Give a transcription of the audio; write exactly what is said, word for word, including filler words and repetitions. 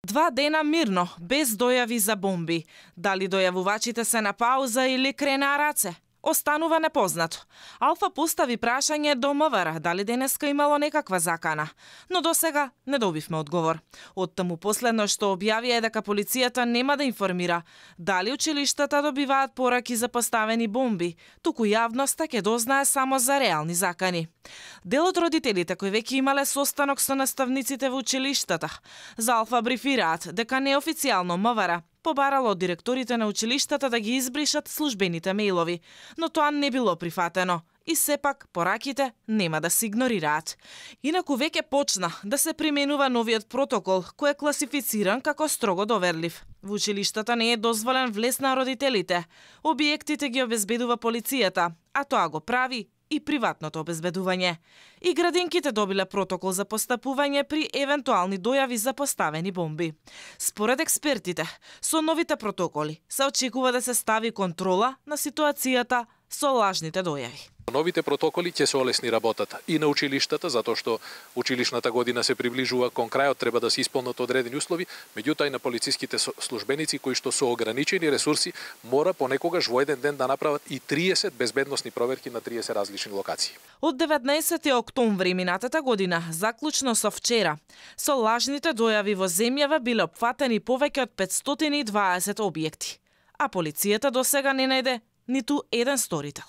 Два дена мирно, без дојави за бомби. Дали дојавувачите се на пауза или кренаа раце? Останува непознато. Алфа постави прашање до МВР дали денеска имало некаква закана, но досега не добивме одговор. Оттаму последно што објави е дека полицијата нема да информира дали училиштата добиваат пораки за поставени бомби, туку јавноста ќе дознае само за реални закани. Дел од родителите кои веќе имале состанок со наставниците во училиштата, за Алфа брифираат дека неофицијално МВР побарало од директорите на училиштата да ги избришат службените мејлови, но тоа не било прифатено и сепак пораките нема да се игнорираат. Инаку веќе почна да се применува новиот протокол кој е класифициран како строго доверлив. Во училиштата не е дозволен влез на родителите. Објектите ги обезбедува полицијата, а тоа го прави и приватното обезбедување. И градинките добиле протокол за постапување при евентуални дојави за поставени бомби. Според експертите, со новите протоколи се очекува да се стави контрола на ситуацијата со лажните дојави. Новите протоколи ќе се олесни работата и на училиштата, затоа што училишната година се приближува кон крајот, треба да се исполнат одредени услови, меѓутоа и на полициските службеници кои што со ограничени ресурси мора понекогаш во еден ден да направат и триесет безбедносни проверки на триесет различни локации. Од деветнаесети октомври минатата година, заклучно со вчера, со лажните дојави во земјава биле опфатени повеќе од петстотини и дваесет објекти, а полицијата досега не најде ниту еден сторител.